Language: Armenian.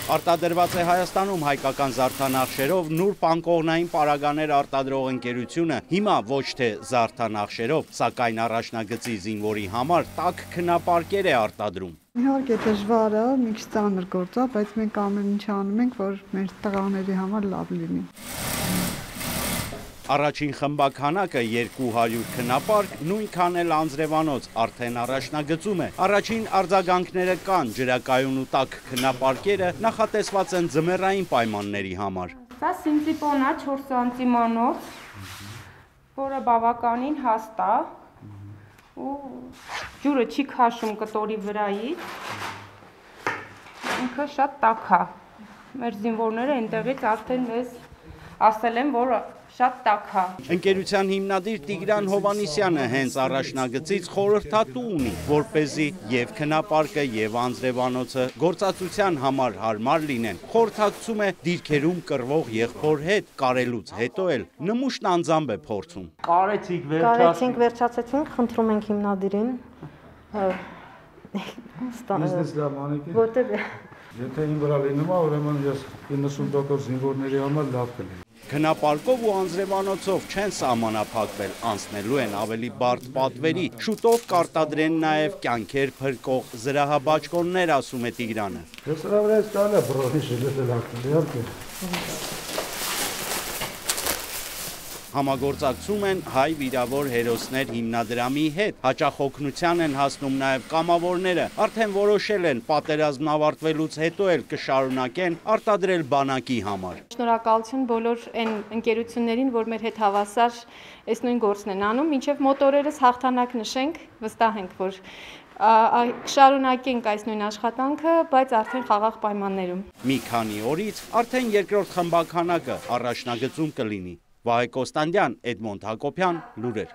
Արտադրված է Հայաստանում հայկական զարդանախշերով նուրբ անկողնային պարագաներ արտադրող ընկերությունը հիմա ոչ թե զարդանախշերով, սակայն առաջնագծի զինվորի համար տաք քնապարկեր է արտադրում։ Իհարկե դժվար է, մի քիչ ծանր գործ է, բայց մենք ամեն ինչ անում ենք, որ մեր տղաների համար լավ լինի։ Առաջին խմբականակը 200 քնապարկ, նույնքան էլ անձրևանոց արդեն առաջնագծում է։ Առաջին արձագանքները կան, ջրակայուն ու տաք քնապարկերը նախատեսված են ձմեռային պայմանների համար։ Սա սինտիպոն է 4 սանտիմանոց, որը բավականին հաստ է ու ջուրը չի քաշում կտորի վրայից, ինքը շատ տաք է։ Մեր զինվորները այնտեղից արդեն մեզ ասել են, որ շատ տաք է։ Ընկերության հիմնադիր Տիգրան Հովանիսյանը հենց առաջնագծից խորհրդատու ունի, որպեսզի եւ քնապարկը եւ անձրևանոցը գործածության համար հարմար լինեն։ Խորհրդակցում է դիրքերում կռվող եղբոր հետ, կարելուց հետո էլ նմուշն անձամբ է փորձում։ Կարեցինք, վերջացեցինք, խնդրում ենք հիմնադիրին։ Բիզնես լավ անեք։ Որտե՞ղ է։ Եթե իմ վրա լինում է, ուրեմն ես 90% զինվորների համար լավ կլինի։ Քնապարկով ու անձրևանոցով չեն սահմանափակվել, անցնելու են ավելի բարդ պատվերի, շուտով կարտադրեն նաև կյանքեր փրկող զրահաբաճկոններ, ասում է Տիգրանը։ Ես սրա վրա ես տալը բրոհի շելետել ակտել, իհարկե։ Համագործակցում են Հայ վիրավոր հերոսներ հիմնադրամի հետ, հաճախ օգնության են հասնում նաև կամավորները, արդեն որոշել են պատերազմն ավարտվելուց հետո էլ կշարունակեն արտադրել բանակի համար։ Շնորհակալություն բոլոր այն ընկերություններին, որ մեր հետ հավասար այս նույն գործն են անում, մինչև մոտորերս հաղթանակ նշենք, վստահ ենք, որ կշարունակենք այս նույն աշխատանքը, բայց արդեն խաղաղ պայմաններում։ Մի քանի օրից արդեն երկրորդ խմբականակը առաջնագծում կլինի։ Վահե Կոստանդյան, Էդմոնդ Հակոբյան, լուրեր։